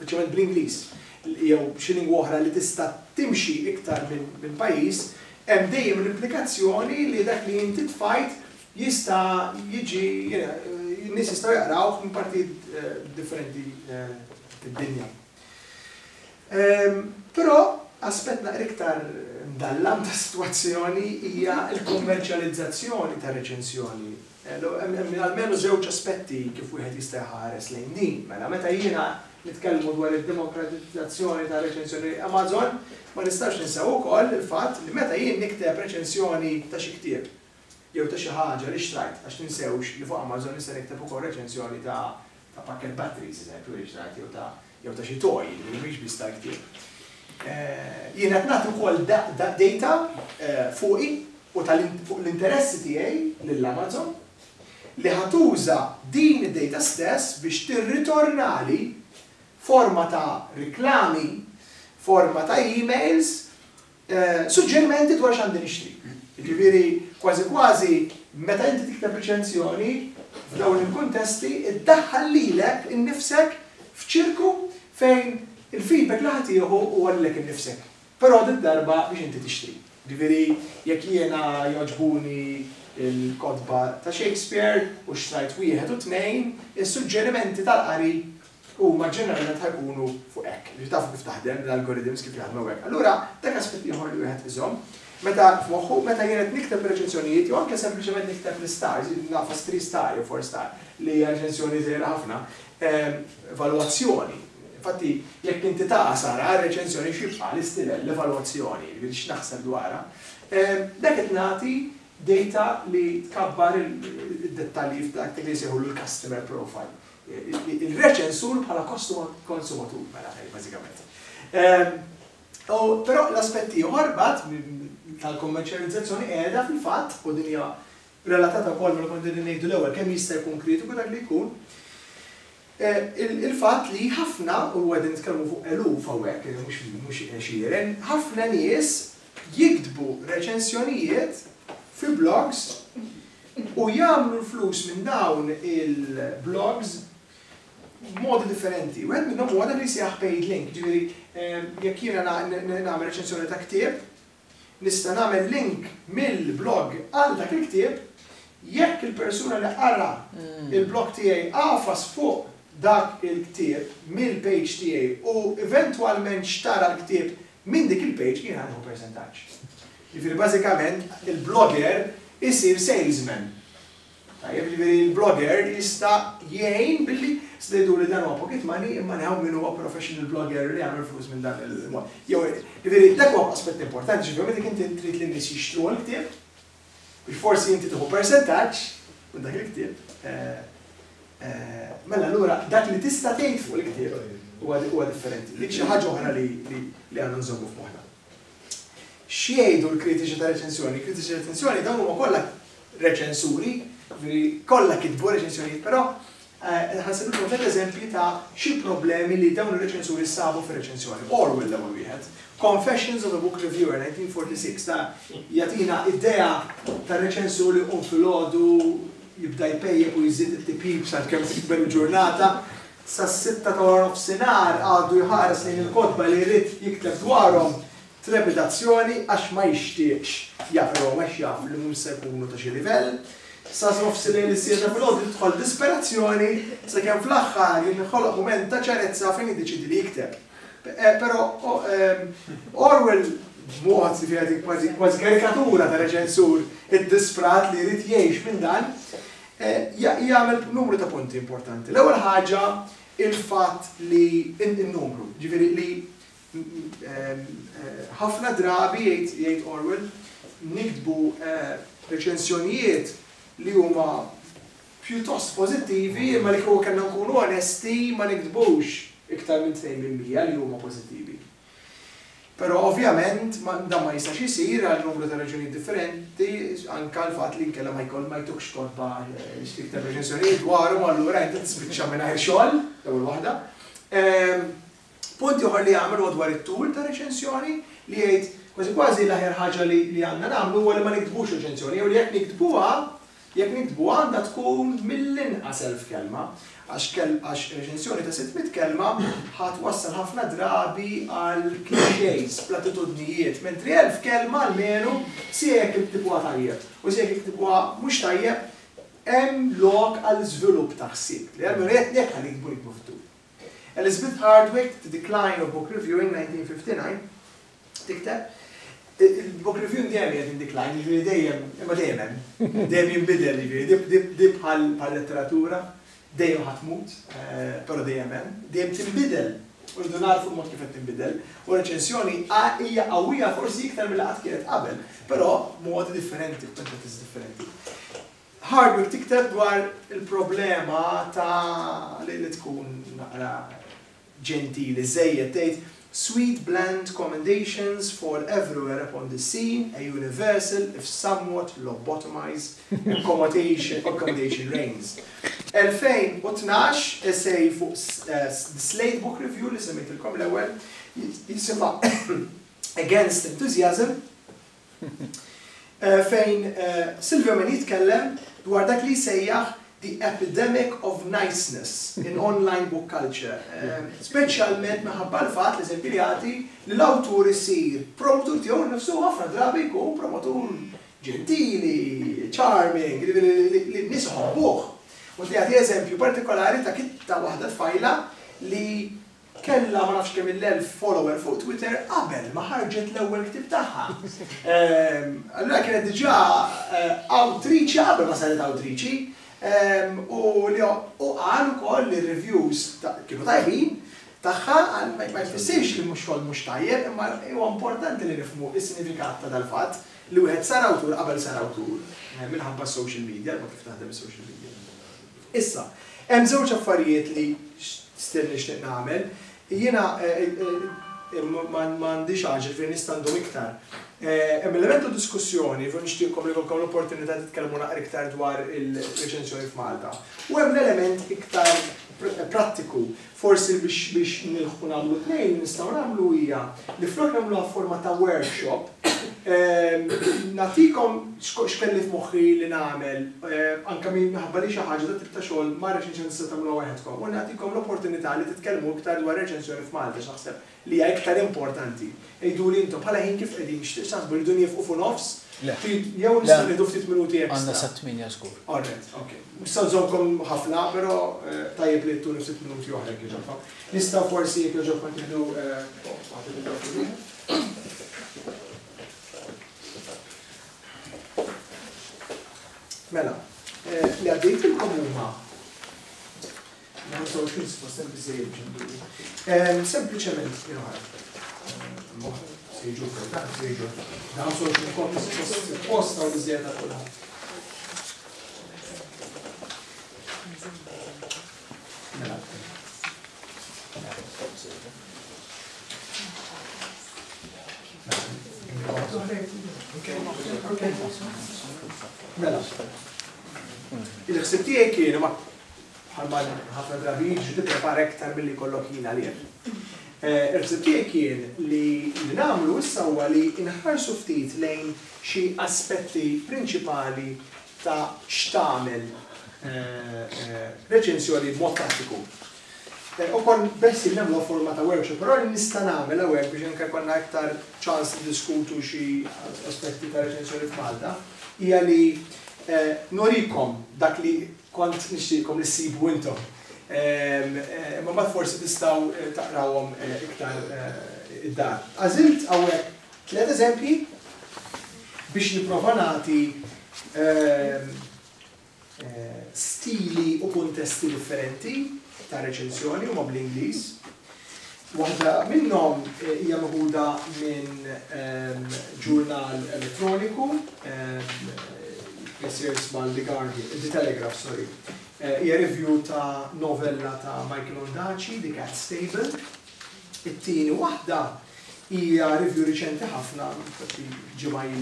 speċjalment bl-Ingliż jew xi lingwa oħra li tista' timxi iktar minn pajjiż, hemm dejjem l-implikazzjoni li dak li inti tfajt jista' jiġi, n-nies jistgħu jaqrawh minn partijiet differenti fid-dinja. Però aspett naqra iktar mdallam tas-sitwazzjoni hija l-kummerċjalizzazzjoni tar-reċensjoni. Hemm almenu żewġ aspetti kif wieħed jista' jħares lejn din. Mela meta jiena nitkellmu dwar id-demokratizzazzjoni tar-reċensjoni Amazon, ma nistgħux ninsew ukoll il-fatt li meta jien nikteb reċensjoni ta' xi ktieb jew ta' xi ħaġa li xtrajt, għax tinsewx li fuq Amazon nista' nikteb ukoll reċensjoni ta' ta' pakkett batteries, eżempju, li xtrajt jew ta' jew ta' xi toy, jiġifieri mhix biss tal-ktieb. Jien qed nagħti wkoll data fuqi u fuq l-interessi tiegħi lil Amazon li ħa tuża din id-data stess biex tirritornali forma ta' riklami, forma ta' emails, Suġġerimenti dwar x'għandi nixtri. Jiġifieri kważi kważi meta inti tikteb riċensjoni f'dawn il-kuntesti iddaħħal lilek innifsek f'ċirku fejn il-feedback li ħa tieħu huwa lilek innifsek. Però did-darba biex inti tixtri. Jiġifieri jekk jiena jogħġbuni l-kotba ta' Shakespeare u xtrajt wieħed u tnejn, is-suġġerimenti tal-qari huma ġeneralment ħa jkunu fuq hekk. Jiġifieri tafu kif taħdem, l-algorithms kif jaħdmu hekk. Allura dak aspett ieħor li wieħed iżomm meta f'moħħu meta jien qed nikteb reċensjonijiet jew anke sempliċement nikteb l-istars, nagħfas three star jew four star li hija reċensjoni żgħira ħafna, evalwazzjoni. Infatti jekk inti tagħsar għar-reċensjoni x'jibqa' l-istilel, l-evalwazzjoni, jiġifieri x'naħseb dwarha. Dak qed nagħti data li tkabbar id-dettalji f'dak li jsejħulu l-customer profile. Il-reċensur bħala konsumatur, mela, bażikament. Però l-aspett ieħor mbagħad tal-kummerċjalizzazzjoni qiegħda fil-fatt, u din hija relatata wkoll ma' li konna qegħdin ngħidu l-ewwel, kemm jista' jkun kritiku dak li jkun, il-fatt li ħafna, u qegħdin nitkellmu fuq eluf hawnhekk, mhux għexieren, ħafna nies jiktbu reċensjonijiet fi blogs u jagħmlu l-flus minn dawn il-blogs b'modi differenti. Wieħed minnhom huwa dak li jsejjaħ paid link, jiġifieri jekk jiena nagħmel reċensjoni ta' ktieb, nista' nagħmel link mill-blog għal dak il-ktieb, jekk il-persuna li qara il-blog tiegħi għafas fuq dak il-ktieb mill-page tiegħi u eventwalment xtara l-ktieb minn dik il-page jiena nieħu persentaġġ. Jiġifieri bażikament il-blogger isir salesman. Tajjeb, jiġifieri l-blogger jista' jgħin billi se tgħiduli dan huwa pocket money imma neħu min huwa professional blogger li jagħmel flus minn dan il-mod. Jew jiġifieri dak huwa aspett importanti, jiġifieri meta inti trid li n-nies jixtru l-ktieb, biex forsi inti tieħu persentaġġ minn dak il-ktieb, mela allura dak li tista' tgħid fuq il-ktieb huwa differenti. Dik xi ħaġa oħra li għandna nżommu f'moħħna. X'jgħidu l-kritiċi ta' reċensjoni? Il-kritiċi ta' reċensjoni dawn huma kollha reċensuri, jiġifieri kollha kitbu reċensjonijiet, però ħa nsemmikom tliet eżempji ta' xi problemi li dawn ir-reċensuri sabu fir-reċensjoni. Orwell l-ewwel wieħed. Confessions of a Book Reviewer, 1946, ta' jagħtina idea ta' reċensur li jqum filgħodu jibda jpejjep u jżid it-tipjip sakemm tikber il-ġurnata. Sas-sitta ta' waranofsinhar għadu jħares lejn il-kotba li jrid jikteb dwarhom b'trepidazzjoni għax ma jixtieqx jaqrahom għax jaf li mhux se jkunu ta' xi livell. Sa nofsillejl is-siegħa ta' filgħodu tidħol disperazzjoni sakemm fl-aħħar jinħoloq mument ta' ċarezza fejn jiddeċiedi li jikteb. Però Orwell b'mod li fiha dik kważi kważi karikatura ta' reċensur iddisprat li jrid jgħix minn dan, jagħmel numru ta' punti importanti. L-ewwel ħaġa il-fatt li n-numru, jiġifieri li ħafna drabi jgħid jgħid Orwell niktbu reċensjonijiet li huma pjuttost pożittivi imma li kieku kellna nkunu onesti ma niktbux iktar minn 2% li huma pożittivi. Però ovvjament dan ma jistax isir għal numru ta' raġunijiet differenti, anke l-fatt li inkella ma jkoll ma jtukx kotba x'tikteb reċensjonijiet dwarhom allura inti tispiċċa mingħajr xogħol, l-ewwel waħda. Punt ieħor li jagħmel huwa dwar it-tul ta' reċensjoni li jgħid kważi kważi l-aħjar ħaġa li li għandna nagħmlu huwa li ma niktbux reċensjoni jew li jekk niktbuha jekk niktbuha għandha tkun mill-inqas 1000 kelma. Għax kell għax reċensjoni ta' 600 kelma ħa twassal ħafna drabi għal clichés, platitudnijiet, mentri 1000 kelma almenu sia jekk iktibuha tajjeb u sia jekk iktibuha mhux tajjeb hemm lok għal żvilupp ta' ħsieb. Li almenu jekk jekk ħa niktbu niktbu fit-tul. Elizabeth Hardwick, The Decline of Book Reviewing, 1959, tikteb, Il-book reviewing dejjem qiegħed in decline, jiġifieri dejjem, imma dejjem hemm. Dejjem jinbidel, jiġifieri di bħal letteratura, dejjem ħa tmut, però dejjem hemm, dejjem tinbidel. U rridu nagħrfu l-mod kif qed tinbidel. U reċensjoni hija qawwija forsi iktar milli qatt kienet qabel, però b'modi differenti, b'metodi differenti. Hardwick tikteb dwar il-problema ta' li tkun naqra ġentili żejjed, tgħid, Sweet bland commendations fall everywhere upon the scene, a universal, if somewhat lobotomized, accommodation, accommodation reigns. 2012, essay fuq The Slate Book Review li semmejtilkom l-ewwel, jisimha Against Enthusiasm, fejn Silverman jitkellem dwar dak li jsejjaħ the epidemic of niceness in online book culture, speċjalment minħabba l-fatt, l-eżempji li jagħti, li l-awtur isir promotur tiegħu nnifsu u ħafna drabi jkun promotur ġentili, charming, jiġifieri li n-nies iħobbuh. U jagħti eżempju partikolari ta' ta' waħda tfajla li Kellha ma nafx kemm il-elf follower fuq Twitter qabel ma ħarġet l-ewwel ktieb tagħha. Allura kienet diġà awtriċi qabel ma saret awtriċi. U li u qal ukoll li r-reviews kienu tajbin tagħha, qal ma jfissirx li mhux xogħol mhux tajjeb, imma huwa importanti li nifhmu s-sinifikat ta' dal-fatt li wieħed sar awtur qabel sar awtur minħabba s-social media, il-mod kif taħdem is-social media. Issa, hemm żewġ affarijiet li still nixtieq nagħmel. Jiena m'għandix għaġel, ġifieri nista' ndum iktar. Hemm element ta' diskussjoni, u nixtieqkom li jkollkom l-opportunità titkellmu naqra iktar dwar il-reċensjoni f'Malta. U hemm l-element iktar prattiku. Forsi biex biex nilħqu nagħmlu t-tnejn li nistgħu nagħmlu hija li flok nagħmluha f'forma ta' workshop, nagħtikom x'kelli f'moħħi li nagħmel anke minħabba li xi ħaġa dat-tip ta' xogħol ma' reċensjoni tistgħu tagħmluha waħedkom u nagħtikom l-opportunità li titkellmu iktar dwar reċensjoni f'Malta x'naħseb li hija iktar importanti. Għiduli intom, bħala ħin kif qegħdin, x'taħsbu, rridu niefqu fuq nofs? Le. Jew nistgħu nieħdu ftit minuti extra? Għandna sat-tmienja żgur. All right, ok. Mhux se nżommkom ħafna, però tajjeb li ttuni ftit minuti oħra jekk jogħġobkom. Nistgħu forsi jekk jogħġobkom tieħdu waħda mikrofonu ieħor. Mela, li għaddejtilkom huma 25 suppost hemm biżżejjed biex induru. Sempliċement, jien oħra. Se jiġu dan, se jiġu. Dan 25 kopji suppost suppost hawn biżżejjed għal kulħadd. Mela. Mela. Il-ħsieb tiegħi kien ma Bħalma ħafna drabi jiġri tipprepara iktar milli jkollok ħin għalih. Il-ħsieb tiegħi kien li li nagħmlu issa huwa li nħarsu ftit lejn xi aspetti prinċipali ta' x'tagħmel reċensjoni b'mod prattiku. U kont beħsiebni nagħmluha forma ta' workshop, però li nista' nagħmel hawnhekk biex anke jkollna iktar ċans niddiskutu xi aspetti ta' reċensjoni f'Malta hija li nurikom dak li Kont nixtieqkom li ssibu intom. Imma mbagħad forsi tistgħu taqrawhom iktar id-dar. Għażilt hawnhekk tliet eżempji biex nipprova nagħti stili u kuntesti differenti ta' reċensjoni, huma bl-Ingliż. Waħda minnhom hija meħuda minn ġurnal elettroniku, jsir jisma' The Guardian, The Telegraph, sorry. Hija review ta' novella ta' Michael Ondaatje, The Cat's Table. It-tieni waħda hija review riċenti ħafna, infatti ġimgħa ilu.